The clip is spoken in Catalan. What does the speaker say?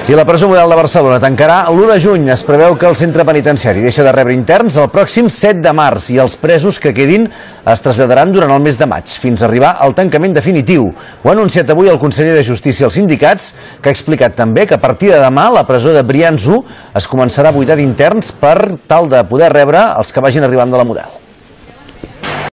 I la presó model de Barcelona tancarà l'1 de juny. Es preveu que el centre penitenciari deixa de rebre interns el pròxim 7 de març i els presos que quedin es traslladaran durant el mes de maig, fins a arribar al tancament definitiu. Ho ha anunciat avui el conseller de Justícia als sindicats, que ha explicat també que a partir de demà la presó de Brians 1 es començarà a buidar d'interns per tal de poder rebre els que vagin arribant de la model.